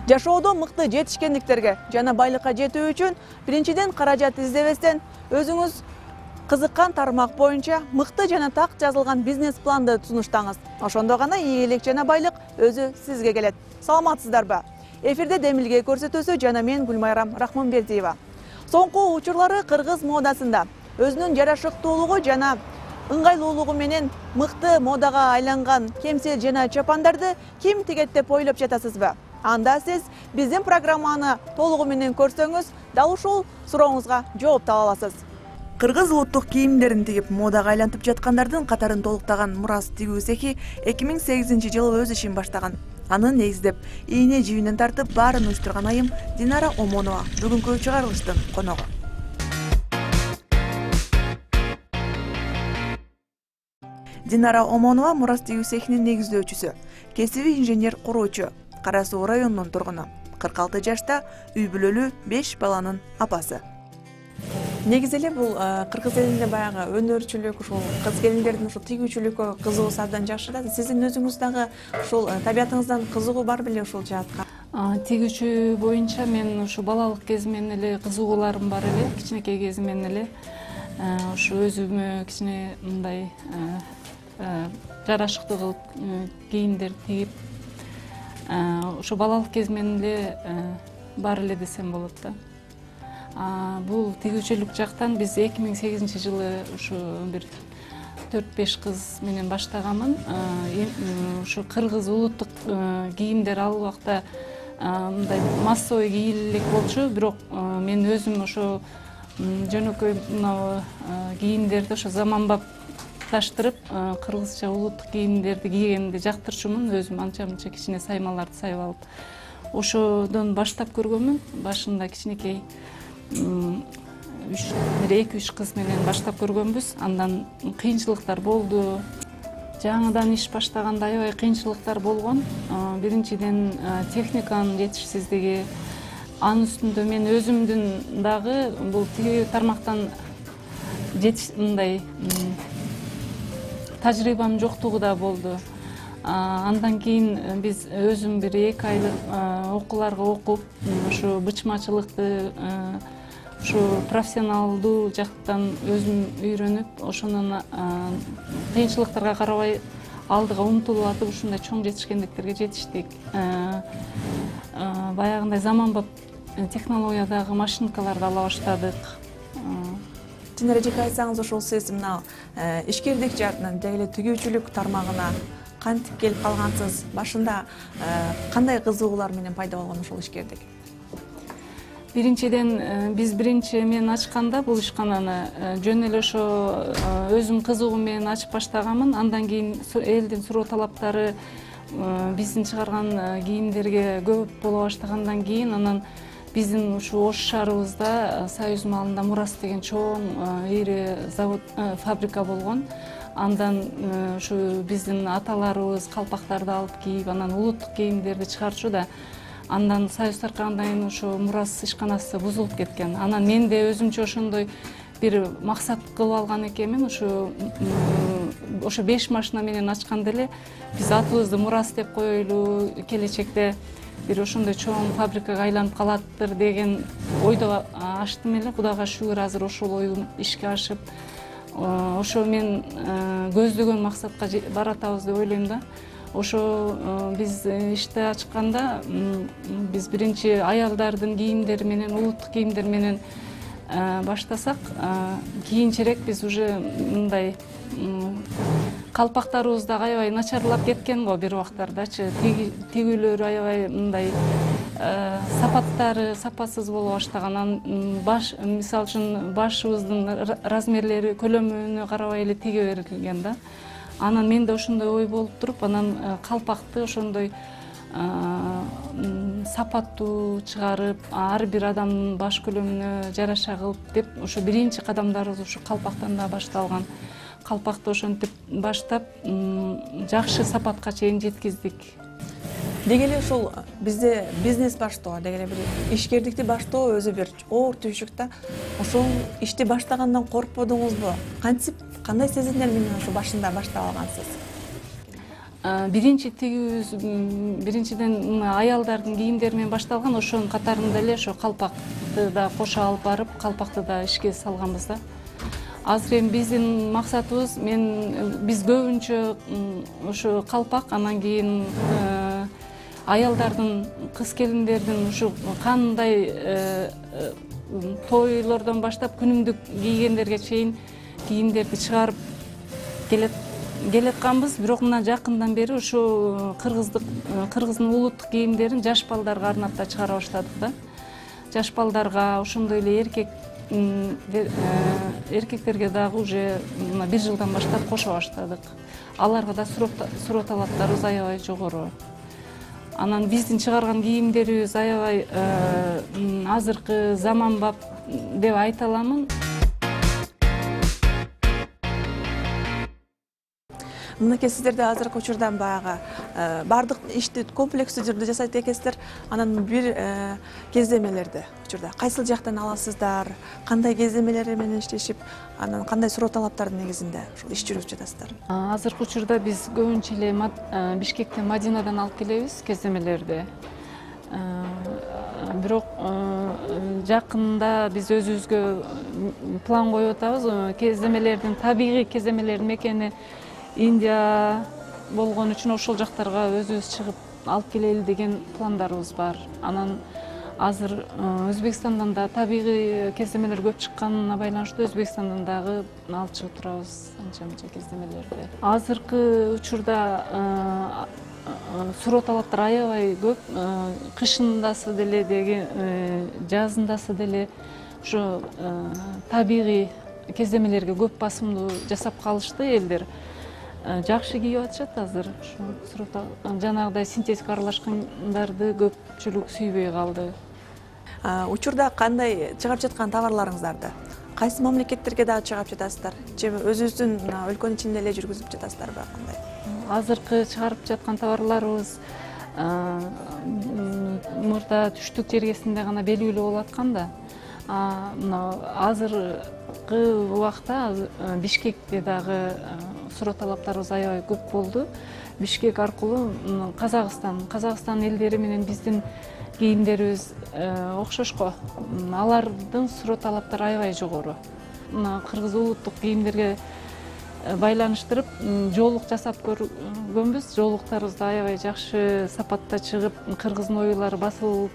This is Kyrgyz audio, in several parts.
Жашоодо мыкты жетишкендиктерге жана байлыкка жетүү үчүн биринчиден каражат издебестен өзүңүз кызыккан тармак боюнча мыкты жана так жазылган бизнес планды сунуштаңыз. Ошондо гана ийгилик жана байлык өзү сизге келет. Саламатсыздарбы? Эфирде демилге көрсөтүүсү жана мен Гүлмайрам Рахманбердиева. Соңку учурлары кыргыз модасында өзүнүн жарашыктуулугу жана ыңгайлуулугу менен мыкты модага айланган кемсел жана чапандарды ким тигет деп ойлоп жатасызбы? Анда сиз биздин программаны толугу менен көрсөңүз, дал ушул сурооңузга жооп таба аласыз. Кыргыз улуттук кийимдерин тигип модага айлантып жаткандардын катарын толуктаган Мурас тигүү цехи 2008-жылы өз ишин баштаган. Аны негиздеп, ийне жибинен тартып баарын уюштурган айым Динара Омонова бүгүнкү чыгарылыштын коногу. Динара Омонова Мурас тигүү цехинин негиздөөчүсү, кесиби инженер куруучу, Кара Суу районунун тургуну. 46 жашта, үй бүлөлүү 5 баланын апасы. Негизи эле бул кыргыз элинде баягы өнөрчүлүк, ушул кыз келиндердин ушул тигүүчүлүккө кызыгуусу абдан жакшы. Сиздин өзүңүз дагы ушул табиятыңыздан кызыгуу бар беле ушул жаатка? Тигүүчү боюнча мен ушу балалык кезимден эле кызыгууларым бар эле, кичинекей кезимден эле. Ушу өзүмө кичине мындай жарашыктуу кылып кийимдер тигип, ушу балалык кезимден эле бар эле десем болот да. Бул тигүүчүлүк жактан биз 2008-жылы ушу бир 4-5 кыз менен баштаганмын. Ушу кыргыз улуттук кийимдер ал убакта мындай массовый кийиле элек болчу, бирок мен өзүм ошо жөнөкөй мына кийимдерди ошо заманбапташтырып, кыргызча улуттук кийимдерди кийгенди жактырчумун. Өзүм анча-мынча кичине саймаларды сайып алып, ошодон баштап көргөнмүн. Башында кичинекей 2-3 кыз менен баштап көргөнбүз. Андан кыйынчылыктар болду. Жаңыдан иш баштаганда аябай кыйынчылыктар болгон. Биринчиден техниканын жетишсиздиги, анын үстүндө мен өзүмдүн дагы бул тигүү тармактан мындай тажрыйбам жоктугу да болду. Андан кийин биз өзүм бир 2 айлык окууларга окуп, ушу бычмачылыкты ушу профессионалдуу жактан өзүм үйрөнүп, ошонун кыйынчылыктарга карабай алдыга умтулуп атып, ушундай чоң жетишкендиктерге жетиштик. Баягындай заманбап технологиядагы машинкаларды ала баштадык. Чынырыжык айтсаңыз, ошол сиз мына ишкердик жаатынан деги эле тигүүчүлүк тармагына кантип келип калгансыз? Башында кандай кызыгуулар менен пайда болгон ошол ишкердик? Биринчиден биз мен ачканда бул ишкананы жөн эле ошо өзүм кызыгуу менен ачып баштаганмын. Андан кийин элдин суроо талаптары биздин чыгарган кийимдерге көп боло баштагандан кийин, анан биздин ушу Ош шаарыбызда Союз маалында Мурас деген чоң ири завод, фабрика болгон. Андан ушу биздин аталарыбыз калпактарды алып кийип, анан улуттук кийимдерди чыгарчу да. Андан Союз таркагандан кийин ушу Мурас ишканасы бузулуп кеткен. Анан мен де өзүмчө ошондой бир максат кылып алган экенмин. Ошо 5 машина менен ачканда эле биз атыбызды Мурас деп коелу, келечекте бир ошондой чоң фабрикага айланып калаттыр деген ойдо ачтым эле. Кудайга шүгүр, азыр ошол оюм ишке ашып, ошо мен көздөгөн максатка баратабыз деп ойлойм да. Ошо биз ишти ачканда биз биринчи аялдардын кийимдери менен, улуттук кийимдер менен баштасак, кийинчерээк биз уже мындай калпактарыбыз дагы аябай начарлап кеткен го бир убактардачы. Тигүүлөрү аябай мындай сапаттары сапасыз боло баштаган. Мисалы үчүн башыбыздын размерлери, көлөмүнө карабай эле тиге берилген да. Анан менде ошондой ой болуп туруп, анан калпакты ошондой сапаттуу чыгарып, ар бир адамдын баш көлөмүнө жараша кылып деп, ошо биринчи кадамдарыбыз ушу калпактан да башталган. Калпакты ошентип баштап, жакшы сапатка чейин жеткиздик. Деги эле ушул бизде бизнес баштоо, деги эле бир ишкердикти баштоо өзү бир оор түйшүк да. Ошол ишти баштагандан коркподуңузбу? Кантип, кандай сезимдер менен ошо башында баштап алгансыз? биринчи тигүүбүз биринчиден аялдардын кийимдери менен башталган, ошонун катарында эле ошо калпакты да кошо алып барып, калпакты да ишке салганбыз да. Азыр эми биздин максатыбыз, биз көбүнчө ошо калпак, анан кийин аялдардын, кыз келиндердин ушу кандай тойлордон баштап күнүмдүк кийгендерге чейин кийимдерди чыгарып келатканбыз. Бирок мына жакындан бери ушу кыргыздын улуттук кийимдерин жаш балдарга арнап да чыгара баштадык да. Жаш балдарга, ошондой эле эркектерге дагы уже мына 1 жылдан баштап кошо баштадык. Аларга да суроо талаптарыбыз аябай жогору. Анан биздин чыгарган кийимдерибиз аябай азыркы заманбап деп айта аламын. Мынакей сиздерде азыркы учурдан баягы бардык ишти комплекстүү түрдө жасайт экенсиздер. Анан бир кездемелерди учурда кайсыл жактан аласыздар, кандай кездемелер менен иштешип, анан кандай суроо талаптардын негизинде ушул иш жүргүзүп жатасыздар? Азыркы учурда биз көбүнчө эле Бишкектен, Мадинадан алып келебиз кездемелерди. Бирок жакында биз өзүбүзгө план коюп атабыз. Кездемелердин, табигый кездемелердин мекени Индия болгон үчүн ошол жактарга өзүбүз чыгып алып келели деген пландарыбыз бар. Анан азыр Өзбекстандан да табигый кездемелер көп чыкканына байланыштуу Өзбекстандан дагы алып чыгып турабыз анча-мынча кездемелерди. Азыркы учурда суроо талаптар аябай көп. Кышындасы деле, жазындасы деле ошо табигый кездемелерге көп басымдуу жасап калышты элдер. Жакшы кийип атышат азыр. Жанагыдай синтетика аралашкандарды көпчүлүк сүйбөй калды. Учурда кандай чыгарып жаткан товарларыңыздарды кайсы мамлекеттерге дагы чыгарып жатасыздар? Же өзүңүздүн өлкөнүн ичинде эле жүргүзүп жатасыздарбы, кандай? Азыркы чыгарып жаткан товарларыбыз мурда түштүк жергесинде гана белгилүү болуп аткан да. Азыркы убакта Бишкекте дагы суроо талаптарыбыз аябай көп болду. Бишкек аркылуу Казакстан элдери менен биздин кийимдерибиз окшошко. Алардын суроо талаптары аябай жогору. Мына кыргыз улуттук кийимдерге байланыштырып жоолук жасап көргөнбүз. Жоолуктарыбыз да аябай жакшы сапатта чыгып, кыргыздын оюлары басылып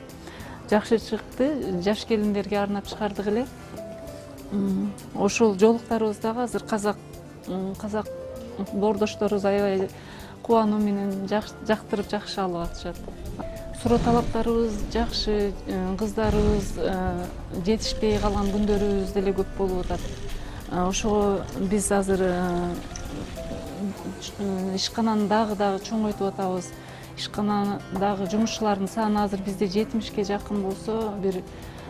жакшы чыкты. Жаш келиндерге арнап чыгардык эле. Ошол жоолуктарыбыз дагы азыр казак боордошторубуз аябай кубануу менен жактырып жакшы алып атышат. Суроо талаптарыбыз жакшы, кыздарыбыз жетишпей калган күндөрүбүз деле көп болуп атат. Ошого биз азыр ишкананы дагы чоңойтуп атабыз. Ишканадагы жумушчулардын саны азыр бизде 70ке жакын болсо, бир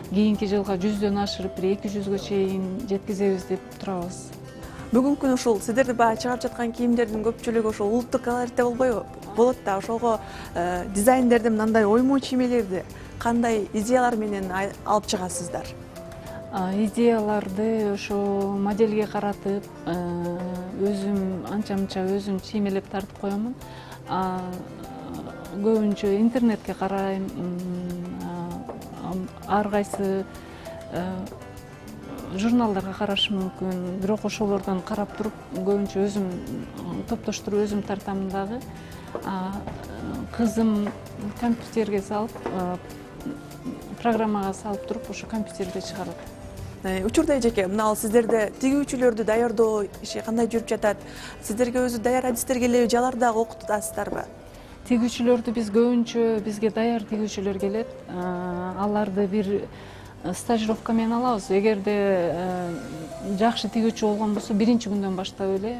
кийинки жылга 100дөн ашырып, бир 200ге чейин жеткизебиз деп турабыз. Бүгүнкү күнү ушул сиздерди баягы чыгарып жаткан кийимдердин көпчүлүгү ошол улуттук колоритте болбойбу? Болот да, ошого дизайндерди, мындай оймоо чиймелерди кандай идеялар менен алып чыгасыздар? Идеяларды ошо моделге каратып, өзүм анча-мынча өзүм чиймелеп тартып коёмун. Көбүнчө интернетке карайм. Ар кайсы журналдарга карашым мүмкүн. Бирок ошолордон карап туруп, көбүнчө өзүм топтоштуруп өзүм тартам дагы. Кызым компьютерге салып, программага салып туруп, ошо компьютерде чыгарат. Учурда эжеке, мына ал сиздерде тигүүчүлөрдү даярдоо иши кандай жүрүп жатат? Сиздерге өзү даяр адистер келеби, же аларды дагы окутасыздарбы? Тигүүчүлөрдү биз көбүнчө, бизге даяр тигүүчүлөр келет. Аларды бир стажировка менен алабыз. Эгерде жакшы тигүүчү болгон болсо, биринчи күндөн баштап эле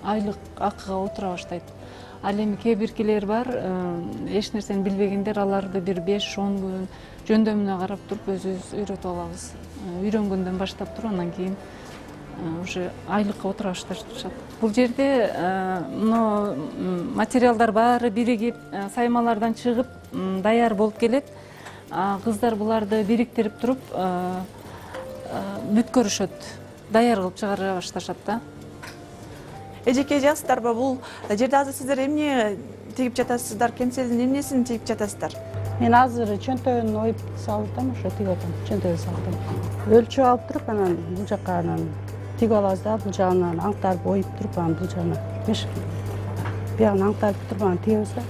айлык акыга отура баштайт. Ал эми кээ биркилер бар, эч нерсени билбегендер, аларды бир 5-10 күн жөндөмүнө карап туруп өзүбүз үйрөтүп алабыз. Үйрөнгөндөн баштап туруп, анан кийин уже айлыкка отура башташат. Бул жерде материалдар баары биригип, саймалардан чыгып, даяр болуп келет. Кыздар буларды бириктирип туруп, бүткөрүшөт, даяр кылып чыгара башташат да. Эжеке жазсыздарбы, бул жерде азыр сиздер эмне тигип жатасыздар, кемселдин эмнесин тигип жатасыздар? Мен азыр чөнтөгүн оюп салып атам, ошо тигип атам, чөнтөгү салдым. Өлчөп алып туруп, анан бул жакка тигип алабыз да, бул жагынан аңтарып оюп туруп, анан бул жагына биягын аңтарып туруп, анан тигебиз да.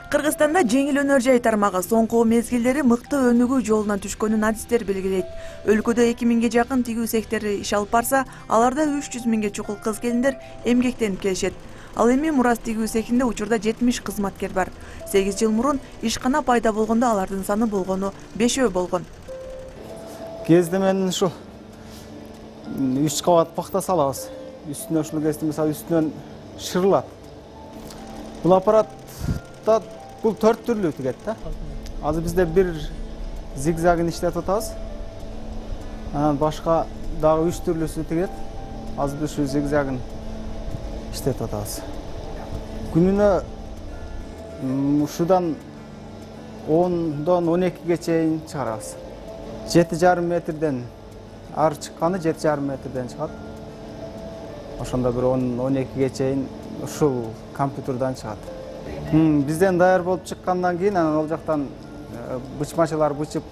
Кыргызстанда жеңил өнөр жай тармагы соңку мезгилдери мыкты өнүгүү жолуна түшкөнүн адистер белгилейт. Өлкөдө 2000ге жакын тигүү сектори иш алып барса, аларда 300 миңге чукул кыз-келиндер эмгектенип келишет. Ал эми Мурас тигүү цехинде учурда 70 кызматкер бар. 8 жыл мурун ишкана пайда болгондо алардын саны болгону 5 болгон. Кезде мен ушу 3 кабат пахта салабыз. Үстүнө ушул кезде мисалы үстүнөн шырылат. Бул аппаратта бул 4 түрлүү тигет да. Азыр бизде бир зигзагын иштетип атабыз. Анан башка дагы 3 түрлүүсү тигет. Азыр биз ушу зигзагын иштетип атабыз. Күнүнө ушудан 10дон 12ге чейин чыгарабыз. 7,5 метрден ар чыкканы 7,5 метрден чыгат. Ошондо бир 10-12ге чейин ушул компьютерден чыгат. Бизден даяр болуп чыккандан кийин анан ал жактан бычмачылар бычып,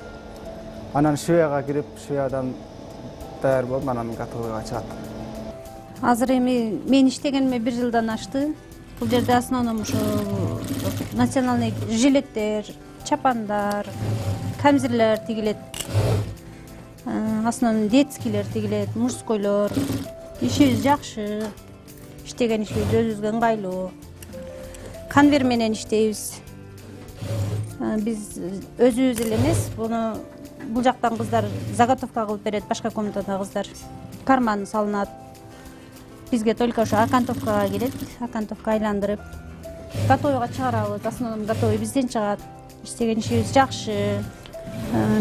анан швеяга кирип, швеядан даяр болуп, анан готовыйга чыгат. Азыр эми мен иштегениме 1 жылдан ашты. Бул жерде основном ушу национальный жилеттер, чапандар, камзирлер тигилет. Основном детскийлер тигилет, мужскойлор. Ишибиз жакшы. Иштеген ишибиз өзүбүзгө ыңгайлуу. Конвейер менен иштейбиз. Биз өзүбүз эле эмес, бул жактан кыздар заготовка кылып берет, башка комнатада кыздар. Карман салынат. Бизге только ошо окантовкага келет, окантовка айландырып, готовыйга чыгарабыз. Основном готовый бизден чыгат. Иштеген ишибиз жакшы.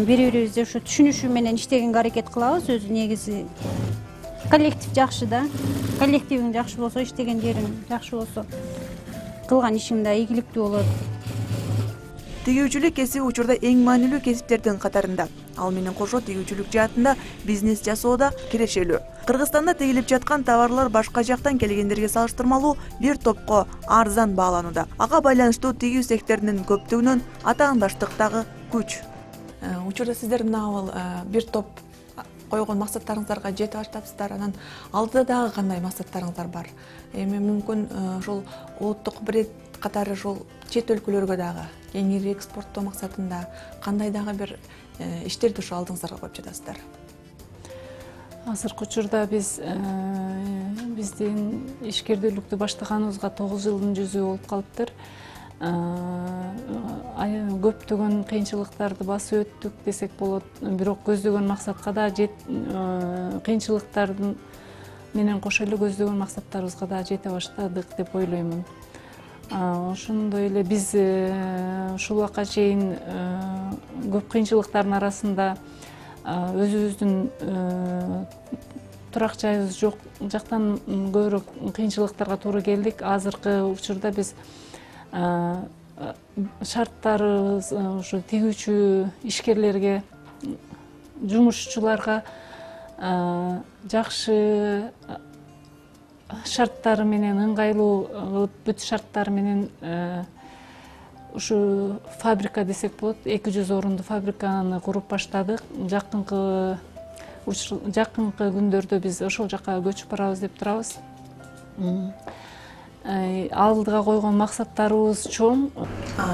Бири-бирибизди ушу түшүнүшү менен иштегенге аракет кылабыз. Өзү негизи коллектив жакшы да. Коллективиң жакшы болсо, иштеген жериң жакшы болсо, кылган ишиң да ийгиликтүү болот. Тигүүчүлүк кесиби учурда эң маанилүү кесиптердин катарында. Ал менен кошо тигүүчүлүк жаатында бизнес жасоодо кирешелүү. Кыргызстанда тигилип жаткан товарлар башка жактан келгендерге салыштырмалуу бир топко арзан бааланууда. Ага байланыштуу тигүү секторунун көптүгүнөн атаандаштыктагы күч. Учурда сиздер мына бир топ койгон максаттарыңыздарга жетип баштапсыздар. Анан алдыда дагы кандай максаттарыңыздар бар? Эми мүмкүн ошол улуттук бренд катары ошол чет өлкөлөргө дагы кеңири экспорттоо максатында кандай дагы бир иштерди ошо алдыңыздарга коюп жатасыздар? Азыркы учурда биздин ишкердүүлүктү баштаганыбызга 9 жылдын жүзү болуп калыптыр. Көптөгөн кыйынчылыктарды басып өттүк десек болот. Бирок көздөгөн максатка да кыйынчылыктардын менен кошо эле көздөгөн максаттарыбызга да жете баштадык деп ойлоймун. Ошондой эле биз ушул убакка чейин көп кыйынчылыктардын арасында өзүбүздүн турак жайыбыз жок жактан көбүрөөк кыйынчылыктарга туура келдик. Азыркы учурда биз шарттарыбыз ушу тигүүчү ишкерлерге, жумушчуларга жакшы шарттары менен ыңгайлуу бүт шарттары менен ушу фабрика десек болот, 200 орундуу фабриканы куруп баштадык. Жакынкы күндөрдө биз ошол жака көчүп барабыз деп турабыз. Алдыга койгон максаттарыбыз чоң.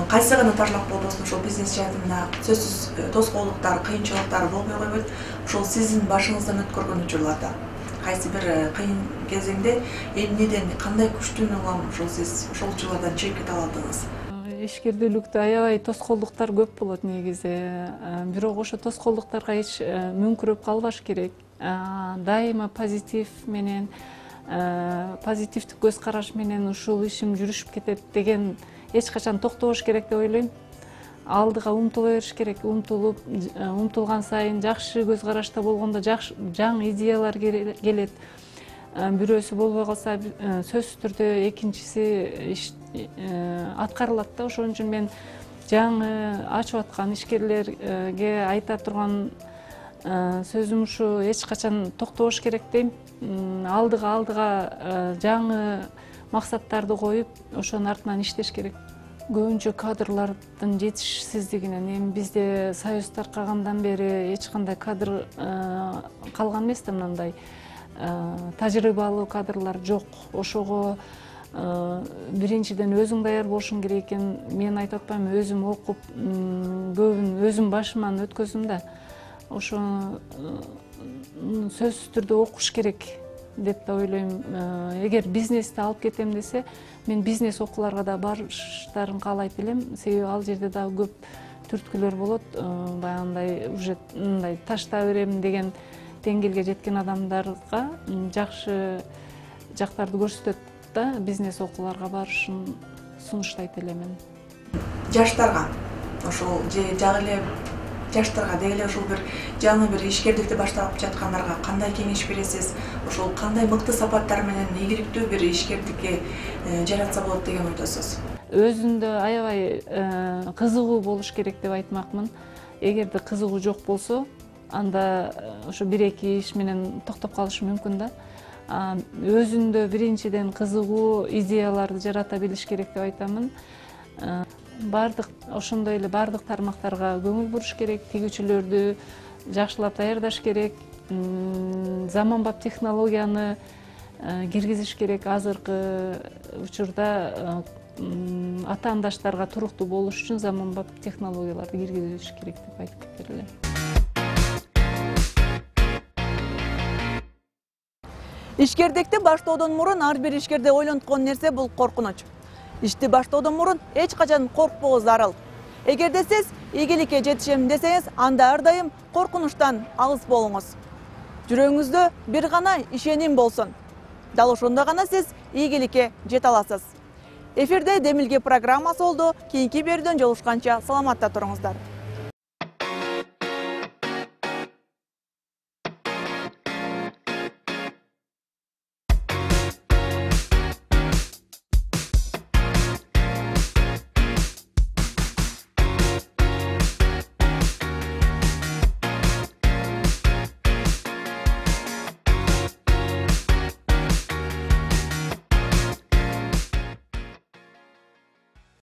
Кайсы гана тарлап болбосун ошол бизнес жаатында сөзсүз тоскоолдуктар, кыйынчылыктар болбой койбойт. Ошол сиздин башыңыздан өткөргөн учурларда кайсы бир кыйын кезеңде эмнеден кандай күчтүн улам сиз ошол учурлардан чыгып кете алдыңыз? Ишкердүүлүктө аябай тоскоолдуктар көп болот негизи. Бирок ошо тоскоолдуктарга эч мүңкүрөп калбаш керек. Дайыма позитив менен, позитивдик көз караш менен ушул ишим жүрүшүп кетет деген эч качан токтобош керек деп ойлойм. Алдыга умтула бериш керек. Умтулган сайын жакшы көз карашта болгондо жаңы идеялар келет. Бирөөсү болбой калса сөзсүз түрдө экинчиси аткарылат да. Ошон үчүн мен жаңы ачып аткан ишкерлерге айта турган сөзүм ушу эч качан токтобош керек дейм. Алдыга жаңы максаттарды коюп, ошонун артынан иштеш керек. Көбүнчө кадрлардын жетишсиздигинен, эми бизде союз таркагандан бери эч кандай кадр калган эмес да, мындай тажрыйбалуу кадрлар жок. Ошого биринчиден өзүң даяр болушуң керек экен. Мен айтып атпайм, өзүм окуп, көбүн өзүм башыман өткөздүм да. Ошону сөзсүз түрдө окуш керек деп да ойлойм. Эгер бизнести алып кетем десе, мен бизнес окууларга да барыштарын каалайт элем. Себеби ал жерде дагы көп түрткүлөр болот. Баягындай уже мындай ташта берем деген деңгээлге жеткен адамдарга жакшы жактарды көрсөтөт да, бизнес окууларга барышын сунуштайт элемин. Жаштарга ошол же жагы эле жаштарга деги ушул бир жаңы бир ишкердикти баштап жаткандарга кандай кеңеш бересиз? Ошол кандай мыкты сапаттар менен ийгиликтүү бир ишкердикке жаратса болот деген ойдосуз? Өзүндө аябай кызыгуу болуш керек деп айтмакмын. Эгерде кызыгуу жок болсо, анда ошо 1-2 иш менен токтоп калышы мүмкүн да. Өзүндө биринчиден кызыгуу идеяларды жарата билиш керек деп айтамын. Бардык ошондой эле бардык тармактарга көңүл буруш керек, тигүүчүлөрдү жакшылап даярдаш керек, заманбап технологияны киргизиш керек. Азыркы учурда атаандаштарга туруктуу болуш үчүн заманбап технологияларды киргизиш керек деп айтып кетер элем. Ишкердикти баштоодон мурун ар бир ишкерде ойлонткон нерсе бул коркунуч. Ишти баштоодон мурун эч качан коркпоо зарыл. Эгерде сиз ийгиликке жетишем десеңиз, анда ар дайым коркунучтан алыс болуңуз. Жүрөгүңүздө бир гана ишеним болсун. Дал ошондо гана сиз ийгиликке жете аласыз. Эфирде Демилге программасы болду. Кийинки берүүдөн жолугушканча саламатта туруңуздар.